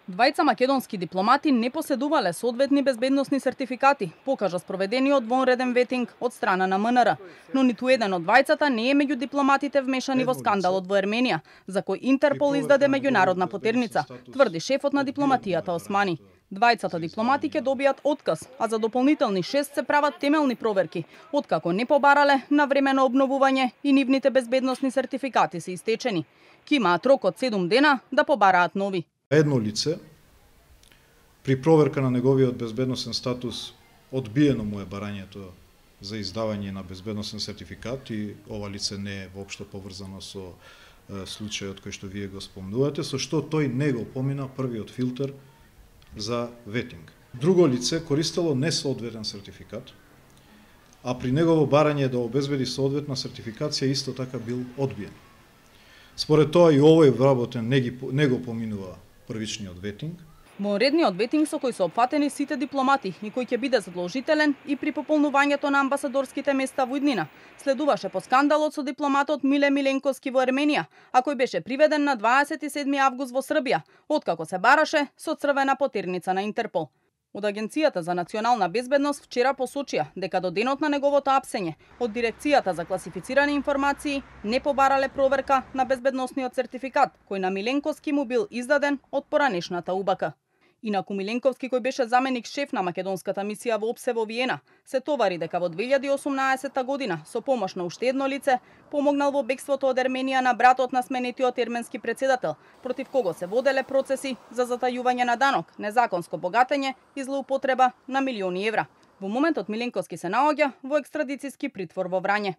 Двајца македонски дипломати не поседувале соодветни безбедносни сертификати, покажа спроведениот вонреден ветинг од страна на МНР. Но ниту еден од двајцата не е меѓу дипломатите вмешани во скандалот во Ерменија, за кој Интерпол издаде меѓународна потерница, тврди шефот на дипломатијата Османи. Двајцата дипломати ќе добијат отказ, а за дополнителни 6 се прават темелни проверки, откако не побарале на времено обновување и нивните безбедносни сертификати се истечени. Ки имаат рок од 7 дена да побараат нови. Едно лице, при проверка на неговиот безбедносен статус, одбиено му е барањето за издавање на безбедносен сертификат и ова лице не е воопшто поврзано со случајот кој што вие го спомнувате, со што тој не го помина првиот филтер за ветинг. Друго лице користело несоодветен сертификат, а при негово барање да обезбеди соодветна сертификација исто така бил одбиен. Според тоа и овој вработен не го поминува првичниот ветинг. Вонредниот ветинг со кој се опфатени сите дипломати и кој ќе биде задолжителен и при пополнувањето на амбасадорските места во иднина, следуваше по скандалот со дипломатот Миле Миленковски во Ерменија, а кој беше приведен на 27 август во Србија, откако се бараше со црвена потерница на Интерпол. Од Агенцијата за национална безбедност вчера посочија дека до денот на неговото апсење од Дирекцијата за класифицирани информации не побарале проверка на безбедносниот сертификат кој на Миленковски му бил издаден од поранешната УБК. Инаку Миленковски, кој беше заменик шеф на македонската мисија во ОПСЕ во Виена, се товари дека во 2018 година со помош на уште едно лице помогнал во бегството од Ерменија на братот на сменетиот ерменски претседател, против кого се воделе процеси за затајување на данок, незаконско богатење и злоупотреба на милиони евра. Во моментот Миленковски се наоѓа во екстрадицијски притвор во Врање.